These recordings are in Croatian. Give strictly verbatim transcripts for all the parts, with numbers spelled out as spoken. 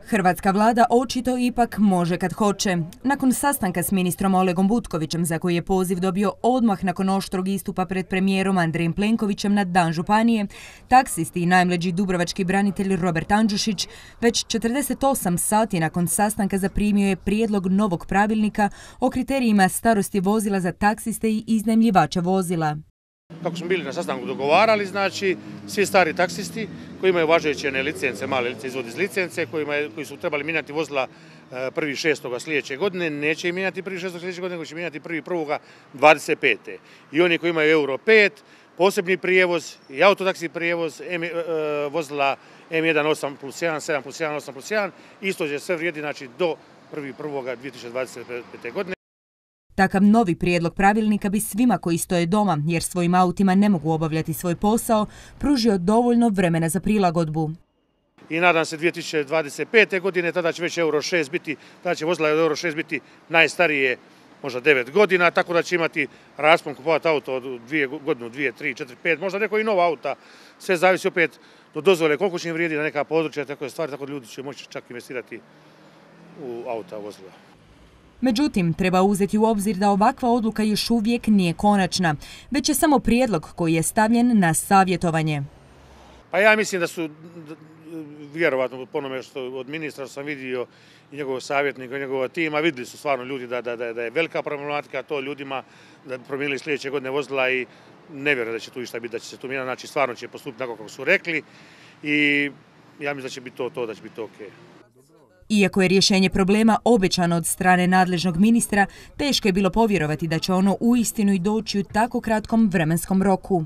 Hrvatska vlada očito ipak može kad hoće. Nakon sastanka s ministrom Olegom Butkovićem, za koji je poziv dobio odmah nakon oštrog istupa pred premijerom Andrejem Plenkovićem na Dan županije, taksisti i najmlađi dubrovački branitelj Robert Andžušić već četrdeset osam sati nakon sastanka zaprimio je prijedlog novog pravilnika o kriterijima starosti vozila za taksiste i iznajmljivača vozila. Kako smo bili na sastanku dogovarali, znači svi stari taksisti koji imaju važeće licence, male licence, izvod iz licence, koji su trebali mijenjati vozila prvi šestoga sljedeće godine, neće im mijenjati prvi šestoga sljedeće godine, nego će mijenjati prvi prvoga dvadeset pete. I oni koji imaju euro pet, posebni prijevoz i autotaksi prijevoz, vozila em jedan osam plus jedan, sedam plus jedan, osam plus jedan, isto će sve vrijedi znači, do prvi prvoga dvije tisuće dvadeset pete. godine. Takav novi prijedlog pravilnika bi svima koji stoje doma, jer svojim autima ne mogu obavljati svoj posao, pružio dovoljno vremena za prilagodbu. I nadam se dvije tisuće dvadeset pete. godine, tada će već euro šest biti, tada će vozila euro šest biti najstarije, možda devet godina, tako da će imati raspon kupovati auto od dvije godinu, dvije, tri, četiri, pet, možda neko i nova auta. Sve zavisi opet do dozvole koliko će im vrijedi na neka područja, tako je stvari, tako da ljudi će moći čak investirati u auta, vozila. Međutim, treba uzeti u obzir da ovakva odluka još uvijek nije konačna, već je samo prijedlog koji je stavljen na savjetovanje. Pa ja mislim da su, vjerovatno po onome što od ministra sam vidio i njegovog savjetnika i njegovog tima, vidjeli su stvarno ljudi da, da, da je velika problematika to ljudima, da promijenili sljedeće godine vozila i ne vjerujem da će tu išta biti, da će se tu mijenjati, znači stvarno će postupiti tako kako su rekli i ja mislim da će biti to, to da će biti ok. Iako je rješenje problema obećano od strane nadležnog ministra, teško je bilo povjerovati da će ono uistinu i doći u tako kratkom vremenskom roku.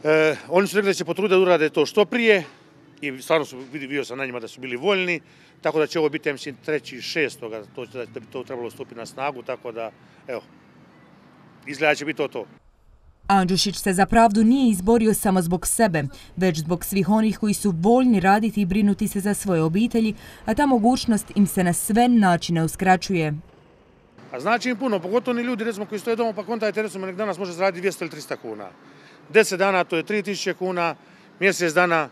E, oni su rekli da će potruditi da urade to što prije i stvarno su, vidio sam na njima da su bili voljni, tako da će ovo biti, ja mislim, treći šestoga, to, da bi to trebalo stupiti na snagu, tako da, evo, izgleda će biti to to. Andžušić se za pravdu nije izborio samo zbog sebe, već zbog svih onih koji su voljni raditi i brinuti se za svoje obitelji, a ta mogućnost im se na sve načine uskraćuje. A znači im puno, pogotovo oni ljudi recimo, koji stoje doma pa kontajte, recimo nek danas može zaraditi dvjesto ili trista kuna. deset dana to je tri tisuće kuna, mjesec dana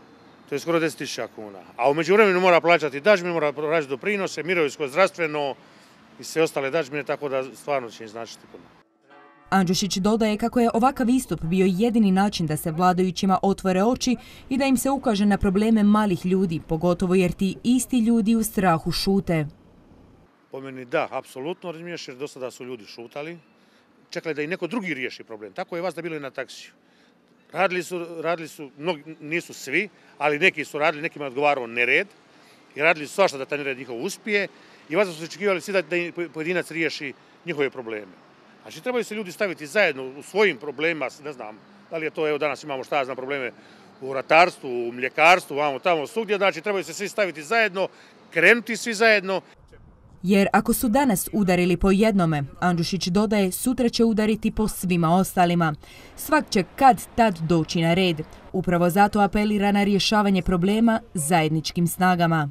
to je skoro deset tisuća kuna. A u međuvremenu mora plaćati dažbine, mora plaćati doprinose, mirovinsko, zdravstveno i sve ostale dažbine, tako da stvarno će im značiti puno. Andžušić dodaje kako je ovakav istup bio jedini način da se vladajućima otvore oči i da im se ukaže na probleme malih ljudi, pogotovo jer ti isti ljudi u strahu šute. Po meni da, apsolutno, razumiješ, jer do sada su ljudi šutali, čekali da i neko drugi riješi problem. Tako je vas da bilo i na taksiju. Radili su, radili su, mnogi, nisu svi, ali neki su radili, nekima je odgovarao nered i radili su svašta da taj nered njihov uspije i vas su očekivali svi da, da pojedinac riješi njihove probleme. Znači, trebaju se ljudi staviti zajedno u svojim problemima, ne znam, da li je to, evo danas imamo šta ja znam probleme u ratarstvu, u mljekarstvu, vamo tamo svugdje, znači trebaju se svi staviti zajedno, krenuti svi zajedno. Jer ako su danas udarili po jednome, Andžušić dodaje, sutra će udariti po svima ostalima. Svak će kad tad doći na red. Upravo zato apelira na rješavanje problema zajedničkim snagama.